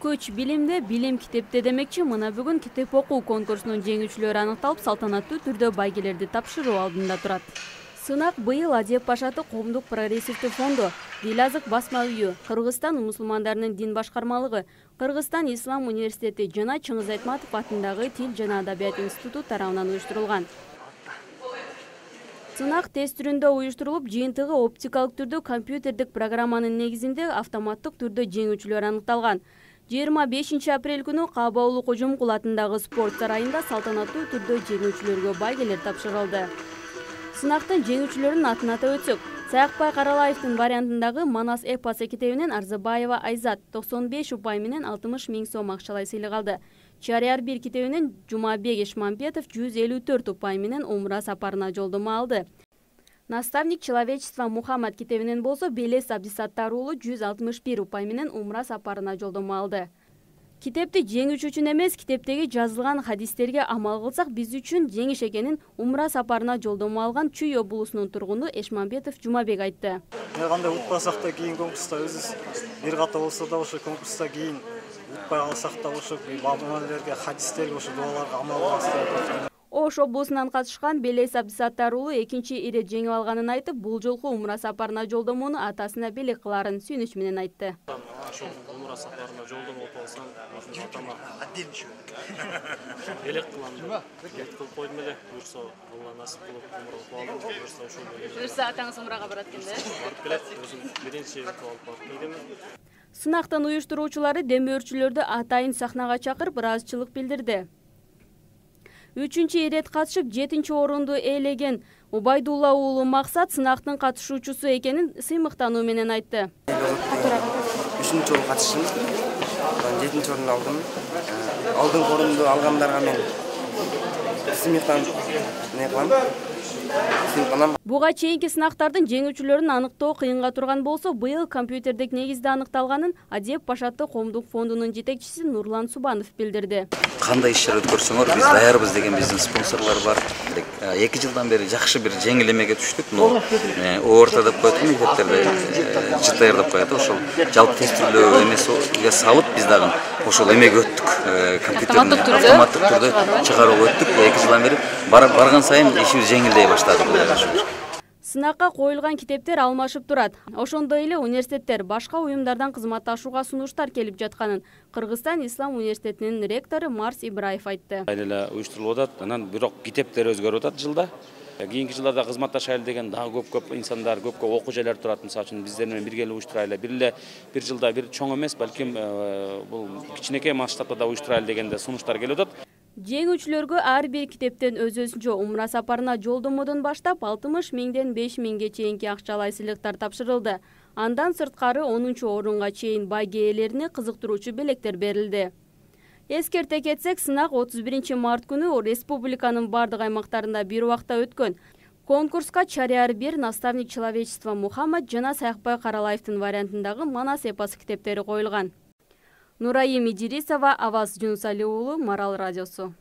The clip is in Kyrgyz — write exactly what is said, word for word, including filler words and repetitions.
Көч билимде, билим китепте демекчи, мына бүгүн китеп окуу конкурсунун жеңүүчүлөрү аныкталып, салтанаттуу түрдө байгелерди тапшыруу алдында турат. Сынак быйыл Адеп Пашаты коомдук прогрессивдүү фонду, Дил азык басма үйү, Кыргызстан мусулмандарынын дин башкармалыгы, Кыргызстан Ислам университети жана Чыңгыз Айтматов атындагы Тил жана Адабият институту тарабынан уюштурулган. Сынак тест түрүндө уюштурулуп, жыйынтыгы оптикалык түрдө компьютердик программанын негизинде автоматтык түрдө жеңүүчүлөр аныкталган. жыйырма бешинчи апрель күнү Каабаулу Кожомкул атындагы спорт сарайында салтанаттуу түрдө жеңүүчүлөргө байгелер тапшырылды. Сынактын жеңүүчүлөрүнүн атын атап өтсөк, Саякбай Каралаевдин вариантындагы Манас эпосы китебинен Арзыбаева Айзат токсон беш упай менен алтымыш миң сом акчалай сыйлык алды. Чарияр бир китебинен Жумабек Эшмамбетов жүз элүү төрт упай менен Умра сапарына жолдомо алды. Наставник человечества Мухаммад китебинен болсо Белес Абдисаттар уулу жүз алтымыш бир упай менен Умра сапарына жолдомо алды. Китепти жеңүүчү үчүн эмес, китептеги жазылган хадистерге амал кылсак биз үчүн жеңиш экенин Умра сапарына жолдомо алган Чүй облусунун тургуну Эшмамбетов Жумабек айтты. Кандай утпасак да кийин конкурста өзүбүз бир ката болсо да ошо конкурста кийин утпай алсак да ошо бабаларга, хадистерге, ошо дуаларга амал кылабыз. Ош облусунан катышкан Белес Абдисаттар уулу экинчи ирет жеңип алганын айтып, бул жолку Умра сапарына жолдомону атасына белек кылаарын сүйүнүч менен айтты. Ошол Умра сапарына жолдомо болуп алсам, атама белек кылам. Бет кылып койдум эле. Буюрса, Алла насип кылып Умра болуп алдым. Буюрса ошол менен. Буюрса атаңыз Умрага барат экен да? Барып келет. Өзүм биринчи рет алып барып келдим. Сынактын уюштуруучулары демөөрчүлөрдү атайын сахнага чакырып, ыраазычылык билдирди. Үчүнчү ирет катышып, жетинчи орунду ээлеген Убайдулла уулу Максат сынактын катышуучусу экенин сыймыктануу менен айтты. Үчүнчү жолу катышым, жетинчи орунду алдым. Алдыңкы орунду алгандарга мен сыймыктанып не кылам. Буга чейинки сынактардын жеңүүчүлөрүн аныктоо кыйынга турган болсо, быйыл компьютердик негизде аныкталганын Адеп Пашаты коомдук фондунун жетекчиси Нурлан Субанов билдирди. Кандай иш-чара өткөрсөңөр, биз даярбыз деген биздин спонсорлор бар. эки жылдан бери жакшы бир жеңил эмеге түштүк. Но орто деп коет мектептерде ЖТР деп коет. Ошол жалпы тестилөө эмеси салып биз дагы ошол эмеге өттүк. Компьютердик автоматтык түрдө чыгарууга өттүк. эки жылдан бери барган сайын ишибиз жеңилдей баштады. Сынакка коюлган китептер алмашып турат. Ошондой эле университеттер башка уюмдардан кызматташууга сунуштар келип жатканын Кыргызстан Ислам университетинин ректору Марс Ибраев айтты. Айыл эле уюштурулуп атат, анан бирок китептер өзгөрүп атат жылда. Кийинки жылдарда кызматташайлы деген дагы көп-көп инсандар, көп-көп окуу жайлар турат. Мисалы үчүн биздер менен бирге эле уюштурайлы. Бир эле бир жылда бир чоң эмес, балким бул кичинекей масштабта да уюштурайлы дегенде сунуштар келип атат. Жеңүүчүлөргө ар бир китептен өз-өзүнчө Умра сапарына жолдомодон баштап алтымыш миңден беш миңге чейинки акчалай сыйлыктар тапшырылды. Андан сырткары онунчу орунга чейин байге ээлерине кызыктыруучу белектер берилди. Эскерте кетсек, сынак отуз биринчи март күнү республиканын бардык аймактарында бир убакта өткөн. Конкурска Чарияр бир, Наставник человечества Мухаммад жана Саякбай Каралаевдин вариантындагы Манас эпосы китептери коюлган. Нурайым Идирисова, Аваз Жунусали уулу, Марал радиосу.